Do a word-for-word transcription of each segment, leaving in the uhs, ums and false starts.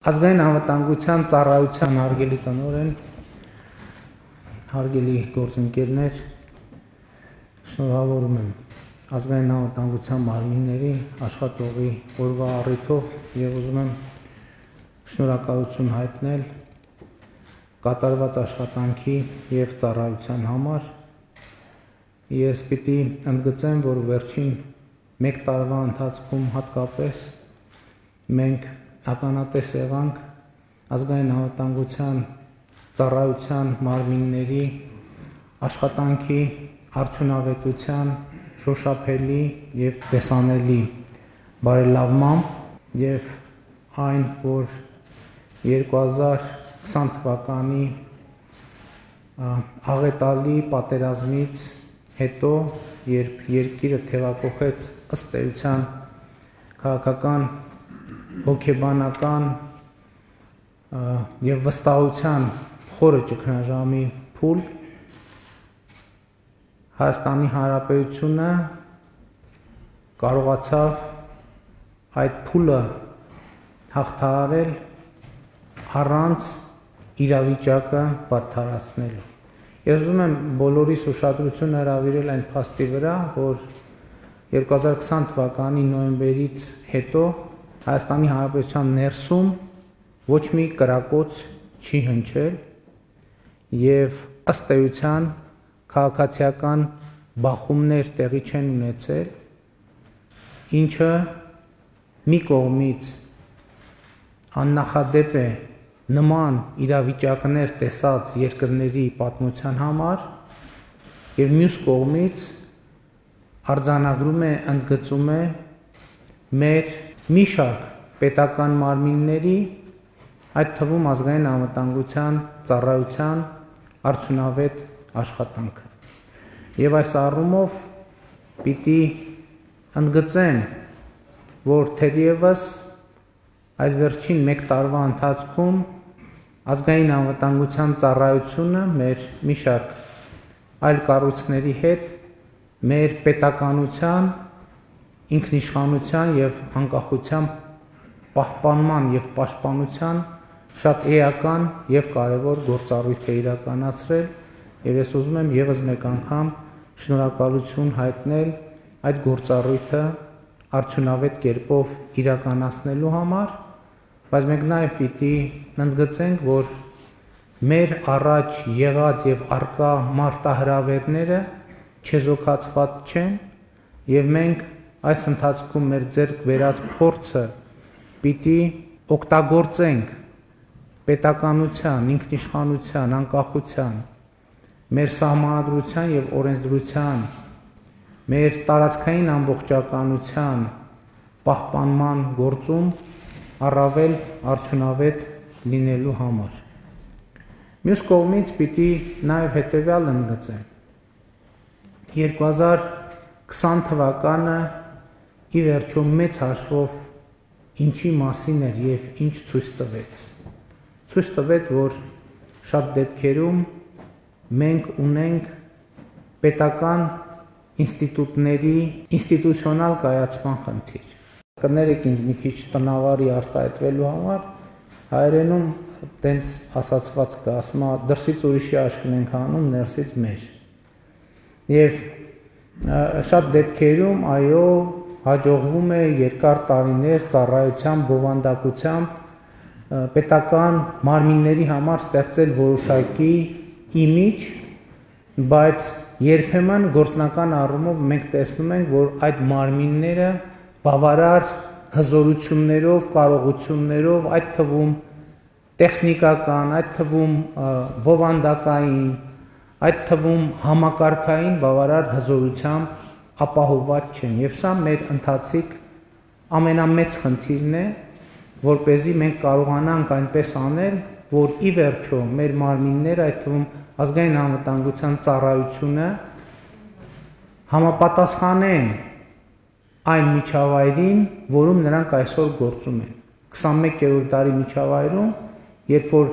Ազգային անվտանգության ծառայության հարգելի տնօրեն, հարգելի գործընկերներ, շնորհավորում եմ ազգային անվտանգության մարմինների աշխատողի օրվա առիթով եւ ուզում եմ շնորհակալություն հայտնել կատարված աշխատանքի եւ ծառայության համար։ Ես պիտի ընդգծեմ, որ վերջին մեկ տարվա ընթացքում հատկապես մենք ականատես եղանք ազգային անվտանգության ծառայության մարմինների աշխատանքի արդյունավետության շոշափելի եւ տեսանելի բարելավման եւ այն, որ երկու հազար քսան թվականի աղետալի պատերազմից հետո, երբ երկիրը թևակոխեց ըստ էության քաղաքական հոգեբանական եւ վստահության խորը ճգնաժամի փուլ, Հայաստանի Հանրապետությունը կարողացավ այդ փուլը հաղթահարել առանց իրավիճակը վատթարացնելու։ Ես ուզում եմ բոլորիս ուշադրությունը հրավիրել այն փաստի վրա, որ երկու հազար քսան թվականի նոյեմբերից հետո Հայաստանի Հանրապետության ներսում ոչ մի կրակոց չի հնչել եւ ըստ էության քաղաքացիական բախումներ տեղի չեն ունեցել, ինչը մի կողմից աննախադեպ է նման իրավիճակներ տեսած երկրների պատմության համար եւ մյուս կողմից արձանագրում է, ընդգծում է մեր մի շարք պետական մարմինների, այդ թվում ազգային անվտանգության ծառայության արդյունավետ աշխատանքը։ Եվ այս առումով պիտի ընդգծեմ, որ թերևս այս վերջին մեկ տարվա ընթացքում ազգային անվտանգության ծառայությունը մեր մի շարք այլ կառույցների հետ մեր պետականության ինքնիշխանության եւ անկախության պահպանման եւ պաշտպանության շատ էական եւ կարեւոր գործառույթ է իրականացրել եւ ես ուզում եմ եւս մեկ անգամ շնորհակալություն հայտնել այդ գործառույթը արդյունավետ կերպով իրականացնելու համար, բայց մենք նաեւ պիտի ընդգծենք, որ մեր առաջ եղած եւ արկա մարտահրավերները չեզոքացված չեն եւ մենք այս ընթացքում մեր ձեռք բերած փորձը պիտի օգտագործենք պետականության, ինքնիշխանության, անկախության, մեր սահմանադրության եւ օրենսդրության, մեր տարածքային ամբողջականության պահպանման գործում առավել արդյունավետ լինելու համար։ Մյուս կողմից պիտի նաեւ հետեւյալ ընդգծեմ. երկու հազար քսան թվականը ի վերջո մեծ հաշվով ինչի մասին էր եւ ինչ ցույց տվեց։ Ցույց տվեց, որ շատ դեպքերում մենք ունենք պետական ինստիտուտների ինստիտուցիոնալ կայացման խնդիր։ Կներեք ինձ մի քիչ տնավարի արտահայտվելու համար, հայերենում տենց ասացված կա, ասում է դրսից ուրիշի աշկն ենք անում, ներսից մեր։ Եվ շատ դեպքերում այո հաջողվում է երկար տարիներ ծառայության բովանդակությամբ պետական մարմինների համար ստեղծել որոշակի իմիջ, բայց երբեմն գործնական առումով մենք տեսնում ենք, որ այդ մարմինները բավարար հզորություններով, կարողություններով, այդ թվում տեխնիկական, այդ թվում բովանդակային, այդ թվում համակարգային բավարար հզորությամբ ապահովված չեն, եւ սա մեր ընթացիկ ամենամեծ խնդիրն է, որպեսզի մենք կարողանանք այնպես անել, որ ի վերջո մեր մարմինները, այդ թվում ազգային անվտանգության ծառայությունը համապատասխանեն այն միջավայրին, որում նրանք այսօր գործում են։ քսանմեկերորդ դարի միջավայրում, երբ որ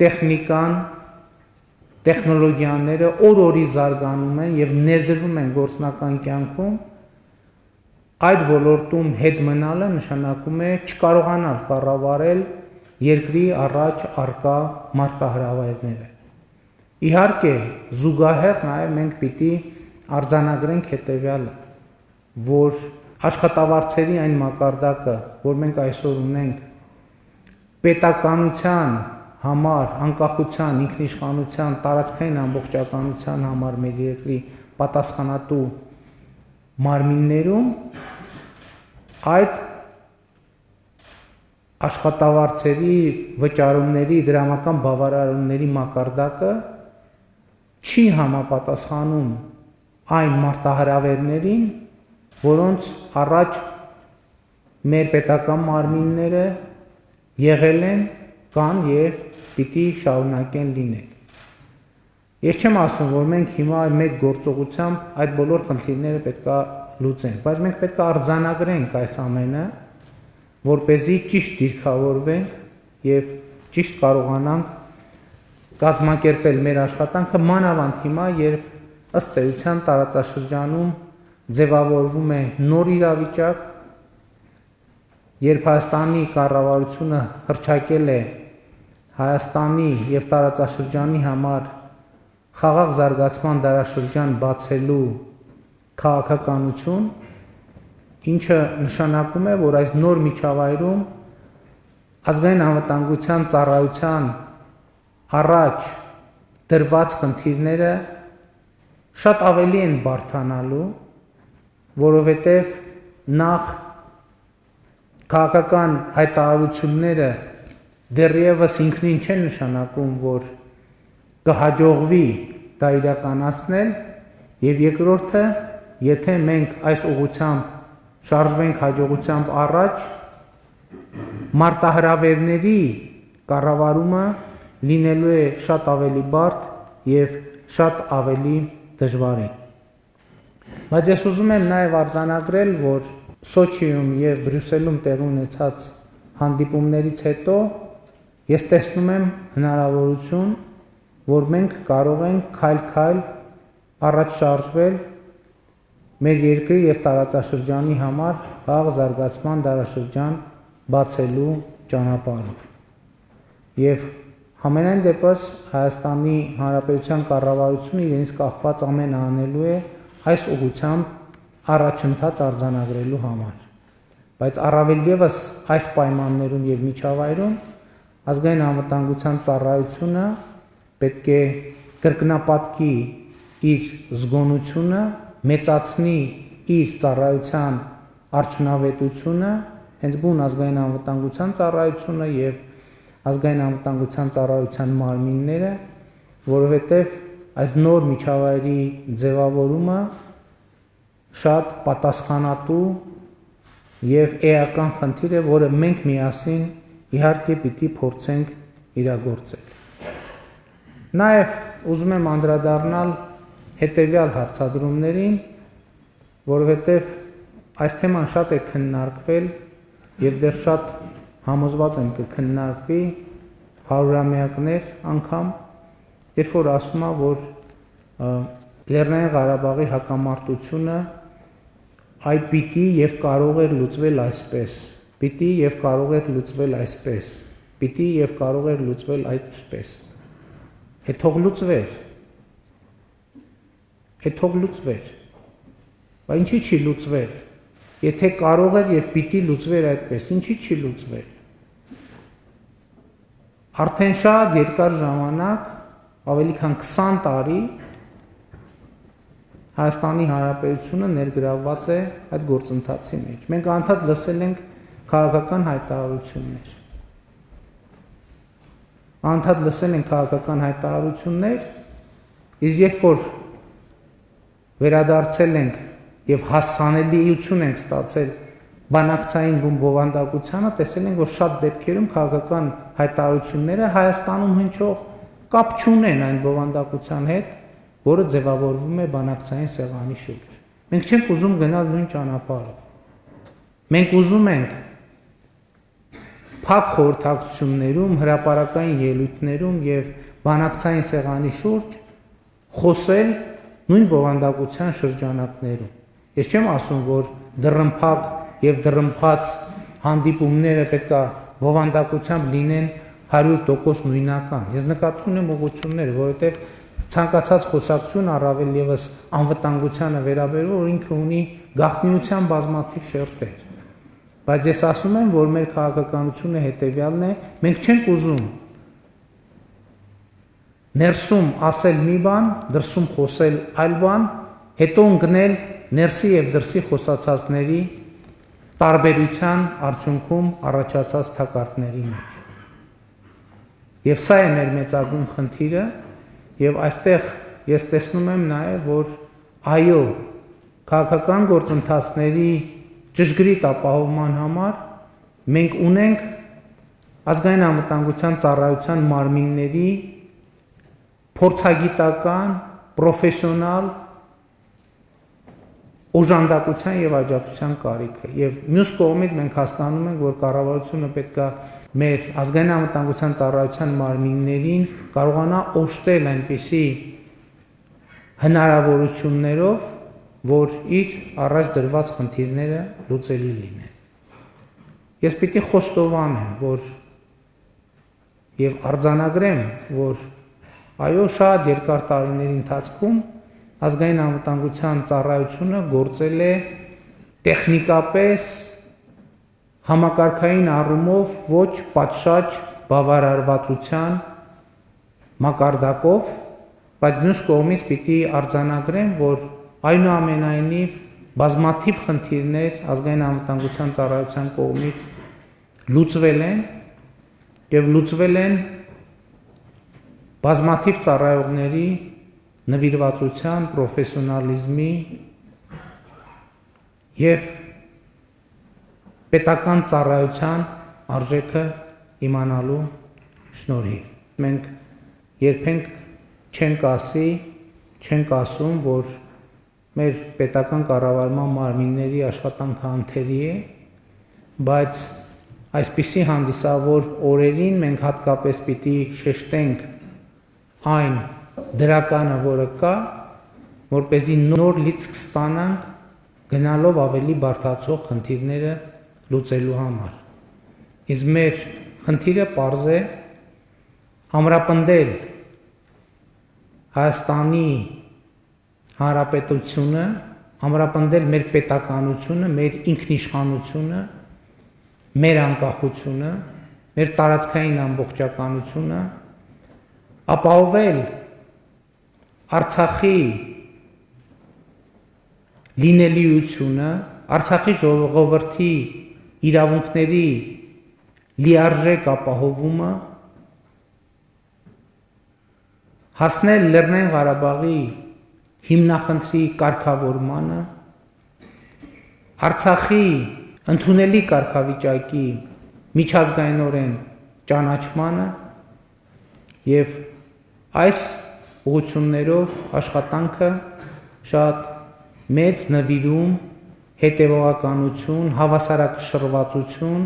տեխնիկան, տեխնոլոգիաները օր-օրի զարգանում են եւ ներդրվում են գործնական կյանքում, այդ ոլորտում հետ մնալը նշանակում է չկարողանալ կառավարել երկրի առաջ առկա մարտահրավերները։ Իհարկե, զուգահեռ նաեւ մենք պիտի արձանագրենք հետեւյալը, որ աշխատավարձերի այն մակարդակը, որ մենք այսօր ունենք, պետականության համար, անկախության, ինքնիշխանության, տարածքային ամբողջականության համար մեր երկրի պատասխանատու մարմիններում այդ աշխատավարձերի վճարումների, դրամական բավարարումների մակարդակը չի համապատասխանում այն մարտահրավերներին, որոնց առաջ մեր պետական մարմինները եղել են, կան եւ պիտի շարունակեն լինել։ Ես չեմ ասում, որ մենք հիմա մեկ գործողությամբ այդ բոլոր խնդիրները պետքա լուծենք, բայց մենք պետքա արձանագրենք այս ամենը, որպեսզի ճիշտ դիրքավորվենք եւ ճիշտ կարողանանք կազմակերպել մեր աշխատանքը, մանավանդ հիմա, երբ ըստ էության տարածաշրջանում ձևավորվում է նոր իրավիճակ, երբ Հայաստանի կառավարությունը հռչակել է Հայաստանի եւ տարածաշրջանի համար խաղաղ զարգացման դարաշրջան բացելու քաղաքականություն, ինչը նշանակում է, որ այս նոր միջավայրում ազգային անվտանգության ծառայության առաջ դրված խնդիրները շատ ավելի են բարդանալու, որովհետև նախ քաղաքական հայտարարությունները դեռևս ինքնին չեն նշանակում, որ կհաջողվի դա իրականացնել, եւ երկրորդը, եթե մենք այս ուղղությամբ շարժվենք հաջողությամբ առաջ, մարտահրավերների կառավարումը լինելու է շատ ավելի բարդ եւ շատ ավելի դժվարին։ Բայց ես ուզում եմ նաեւ արձանագրել, որ Սոչիում եւ Բրյուսելում տեղի ունեցած հանդիպումներից հետո ես տեսնում եմ հնարավորություն, որ մենք կարող ենք քայլ-քայլ առաջ շարժվել մեր երկրի եւ տարածաշրջանի համար խաղաղ զարգացման դարաշրջան բացելու ճանապարհով։ Եվ համենայն դեպս Հայաստանի Հանրապետության կառավարությունը իրենից կախված ամենը անելու է այս ուղղությամբ առաջընթաց արձանագրելու համար։ Բայց առավել ևս այս պայմաններում եւ միջավայրում ազգային անվտանգության ծառայությունը պետք է կրկնապատկի իր զգոնությունը, մեծացնի իր ծառայության արդյունավետությունը, հենց բուն ազգային անվտանգության ծառայությունը եւ ազգային անվտանգության ծառայության մարմինները, որովհետեւ այս նոր միջավայրի ձևավորումը շատ պատասխանատու եւ էական խնդիր է, որը մենք միասին իհարկե պիտի փորձենք իրագործել։ Նաեւ ուզում եմ անդրադառնալ հետեւյալ հարցադրումներին, որովհետեւ այս թեման շատ է քննարկվել եւ դեռ շատ համոզված եմ կքննարկվի հարյուրամյակներ անգամ, երբ որ ասում է, որ Լեռնային Ղարաբաղի հակամարտությունը այ պիտի եւ կարող էր լուծվել այսպես, պիտի եւ կարող էր լուծվել այսպես, պիտի եւ կարող էր լուծվել այսպես։ Հետ թող լուծվեր։ Հետ թող լուծվեր։ Բայց ինչի՞ չի լուծվել։ Եթե կարող էր եւ պիտի լուծվեր այդպես, ինչի՞ չի լուծվել։ Արդեն շատ երկար ժամանակ, ավելի քան քսան տարի Հայաստանի Հանրապետությունը ներգրավված է այդ գործընթացի մեջ։ Մենք անդադ լսել ենք քաղաքական հայտարարություններ։ Անդադ լսել ենք քաղաքական հայտարարություններ, Իսկ երբ որ վերադարձել ենք եւ հասանելիություն ենք ստացել բանակցային բովանդակությանը, տեսել ենք, որ շատ դեպքերում քաղաքական հայտարարությունները Հայաստանում հնչող կապ չունեն այն բովանդակության հետ, որը ձևավորվում է բանակցային սեղանի շուրջ։ Մենք չենք ուզում գնալ նույն ճանապարհով։ Մենք ուզում ենք փակ խորհրդակցություններում, հրապարակային ելույթներում եւ բանակցային սեղանի շուրջ խոսել նույն բովանդակության շրջանակներում։ Ես չեմ ասում, որ դռնփակ եւ դռնփած հանդիպումները պետք է բովանդակությամբ լինեն հարյուր տոկոս նույնական։ Ես նկատի ունեմ ուղղություններ, որովհետեւ ցանկացած խոսակցություն առավել եւս անվտանգությանը վերաբերող, որ ինքը ունի գաղտնիության բազմաթիվ շերտեր։ Բայց ես ասում եմ, որ մեր քաղաքականությունը հետեւյալն է, մենք չենք ուզում ներսում ասել մի բան, դրսում խոսել այլ բան, հետո ընկնել ներսի եւ դրսի խոսացածների տարբերության արդյունքում առաջացած թակարդների մեջ։ Եվ սա է մեր մեծագույն խնդիրը, եւ այստեղ ես տեսնում եմ նաեւ, որ այո, քաղաքական գործընթացների ճշգրիտ ապահովման համար մենք ունենք ազգային անվտանգության ծառայության մարմինների փորձագիտական, պրոֆեսիոնալ օժանդակության եւ աջակցության կարիքը։ Եվ մյուս կողմից մենք հասկանում ենք, որ կառավարությունը պետք է մեր ազգային անվտանգության ծառայության մարմիններին կարողանա օժտել այնպիսի հնարավորություններով, որ իր առաջ դրված խնդիրները լուծելի լինեն։ Ես պիտի խոստովանեմ, որ եւ արձանագրեմ, որ այո, շատ երկար տարիների ընթացքում ազգային անվտանգության ծառայությունը գործել է տեխնիկապես համակարգային առումով ոչ պատշաճ բավարարվածության մակարդակով, բայց մյուս կողմից պիտի արձանագրեմ, որ այնուամենայնիվ բազմաթիվ խնդիրներ ազգային անվտանգության ծառայության կողմից լուծվել են եւ լուծվել են բազմաթիվ ծառայողների նվիրվածության, պրոֆեսիոնալիզմի եւ պետական ծառայության արժեքը իմանալու շնորհիվ։ Մենք երբենք չենք ասի, չենք ասում, որ մեր պետական կառավարման մարմինների աշխատանքը անթերի է, բայց այսպիսի հանդիսավոր օրերին մենք հատկապես պիտի շեշտենք այն դրականը, որը կա, որպեսզի նոր լիցք ստանանք գնալով ավելի բարդացող խնդիրները լուծելու համար։ Իսկ մեր խնդիրը պարզ է ամրապնդել Հայաստանի Հանրապետությունը, ամրապնդել մեր պետականությունը, մեր ինքնիշխանությունը, մեր անկախությունը, մեր տարածքային ամբողջականությունը, ապահովել Արցախի լինելիությունը, Արցախի ժողովրդի իրավունքների լիարժեք ապահովումը, հասնել Լեռնային Ղարաբաղի հիմնախնդրի կարգավորմանը, Արցախի ընդունելի կարգավիճակի միջազգայինորեն ճանաչմանը եւ այս ուղղություններով աշխատանքը շատ մեծ նվիրում, հետևողականություն, հավասարակշռվածություն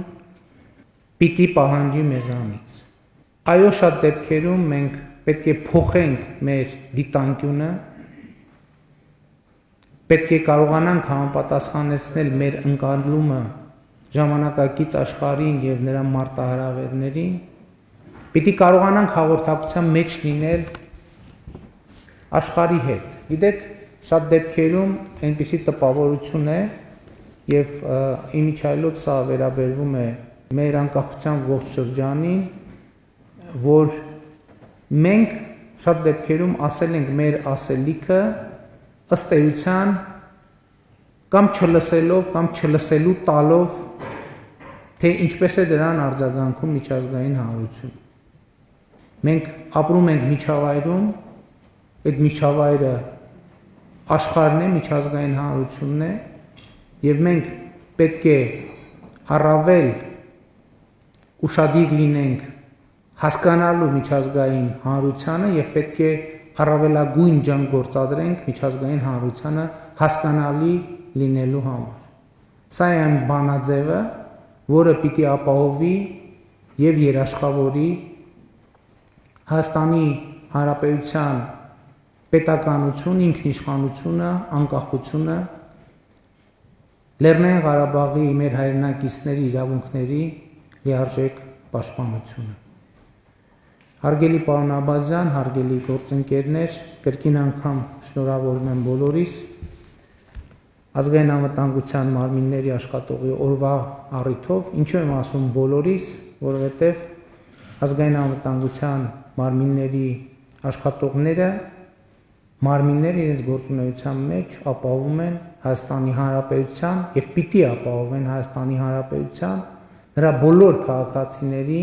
պիտի պահանջի մեզանից։ Այո, շատ դեպքերում մենք պետք է փոխենք մեր դիտանկյունը, պետք է կարողանանք համապատասխանեցնել մեր ընկալումը ժամանակակից աշխարհին եւ նրա մարտահրավերներին, պիտի կարողանանք հաղորդակցության մեջ լինել աշխարհի հետ։ Գիտեք, շատ դեպքերում այնպիսի տպավորություն է եւ իմիջայլոց սա վերաբերվում է մեր անկախության ողջ շրջանին, որ մենք շատ դեպքերում ասել ենք մեր ասելիքը ըստ էության կամ չլսելով կամ չլսելու տալով, թե ինչպես է դրան արձագանքում միջազգային հանրությունը։ Մենք ապրում ենք միջավայրում, այդ միջավայրը աշխարհն է, միջազգային հանրությունն է, եւ մենք պետք է առավել ուշադիր լինենք հասկանալու միջազգային հանրությանը եւ պետք է առավելագույն ջանք գործադրենք միջազգային հանրությանը հասկանալի լինելու համար։ Սա է այն բանաձևը, որը պիտի ապահովի եւ երաշխավորի Հայաստանի Հանրապետության պետականություն, ինքնիշխանությունը, անկախությունը, Լեռնային Ղարաբաղի մեր հայրենակիցների իրավունքների լիարժեք պաշտպանությունը։ Հարգելի պարոն Աբազյան, հարգելի գործընկերներ, կրկին անգամ շնորհավորում եմ բոլորիս ազգային անվտանգության մարմինների աշխատողի օրվա առիթով, ինչու եմ ասում բոլորիս, որովհետև ազգային անվտանգության մարմինների աշխատողները մարմինները իրենց գործունեության մեջ ապահովում են Հայաստանի Հանրապետության եւ պիտի ապահովեն Հայաստանի Հանրապետության նրա բոլոր քաղաքացիների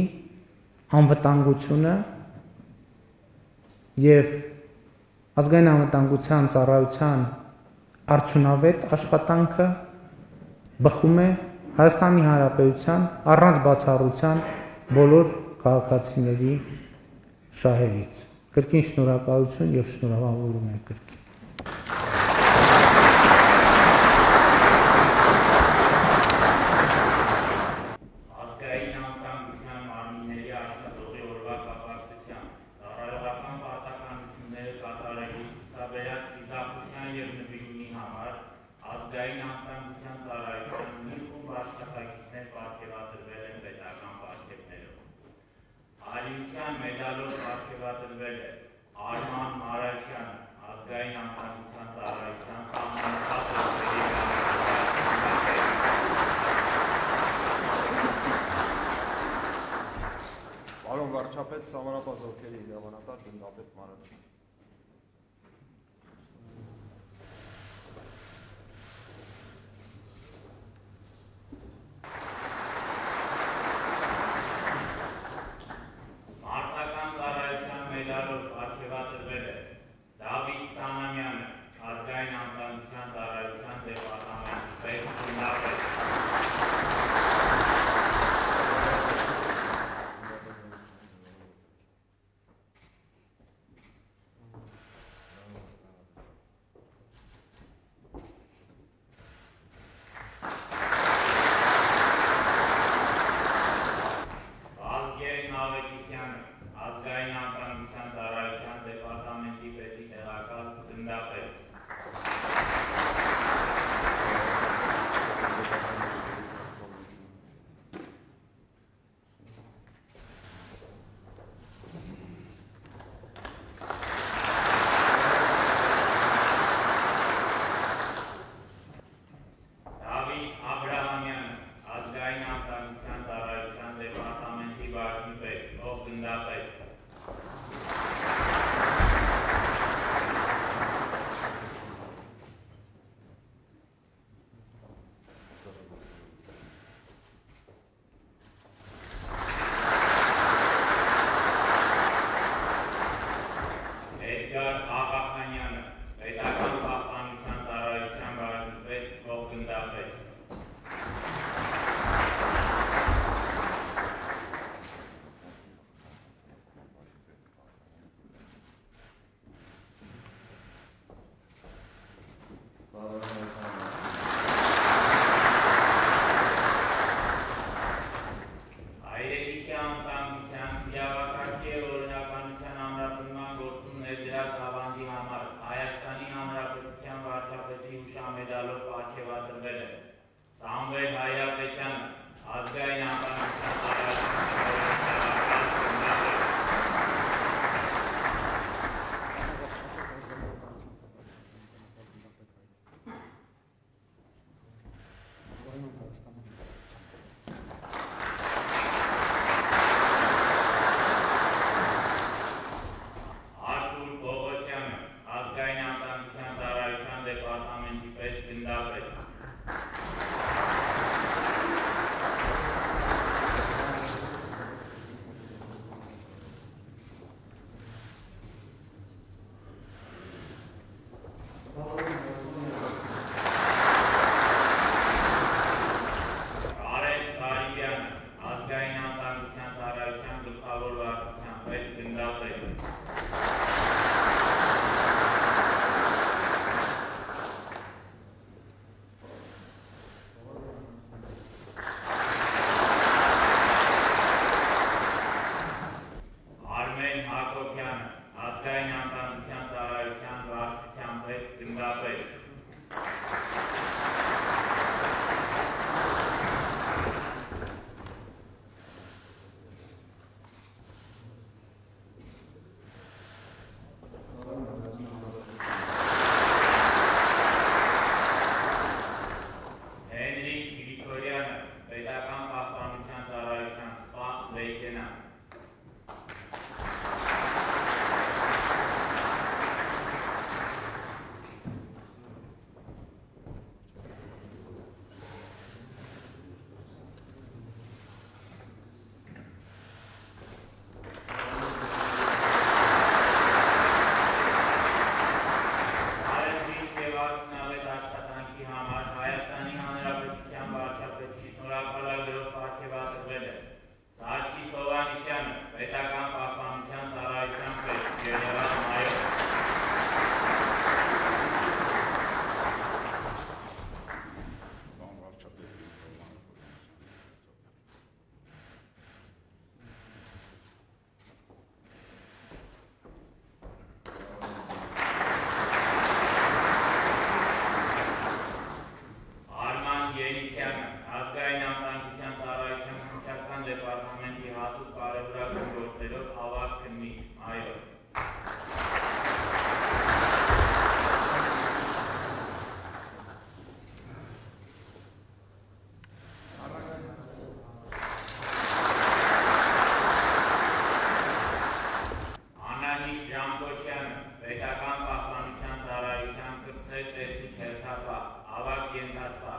անվտանգությունը եւ ազգային անվտանգության ծառայության արդյունավետ աշխատանքը բխում է Հայաստանի Հանրապետության առանց բացառության բոլոր քաղաքացիների շահերից։ Կրկին շնորհակալություն եւ շնորհավորում եմ կրկին։ Մեդալով պարգևատրվել է Արման Մարաշյան, ազգային անվտանգության ծառայության սահմանափակ Պարոն վարչապետ, սահմանափակ զորքերի իրավանատար գնդապետ Մարաշյան։ Հանրապետ։ Հենրիկ Գրիգորյանը, Պետական պահպանության ծառայության սպա լեյտենանտ։ Արեցիկ և արդյունավետ աշխատանքի համար Հայաստանի Հանրապետության վարչապետի շնորհակալագրով պարգևատրվել է Սարգիս Հովհաննիսյանը, Պետական պահպանության ծառայության պետ, գեներալ-մայոր։ Արման Երիցյանը, Ազգային անվտանգության ծառայության քննչական դեպարտամենտի հատուկ կարևորագույն գործերով ավագ քննիչ, մայոր։ Անահիտ Ժամփոչյանը, Պետական պահպանության ծառայության կրտսեր տեսուչ հերթապահ, ավագ ենթասպա։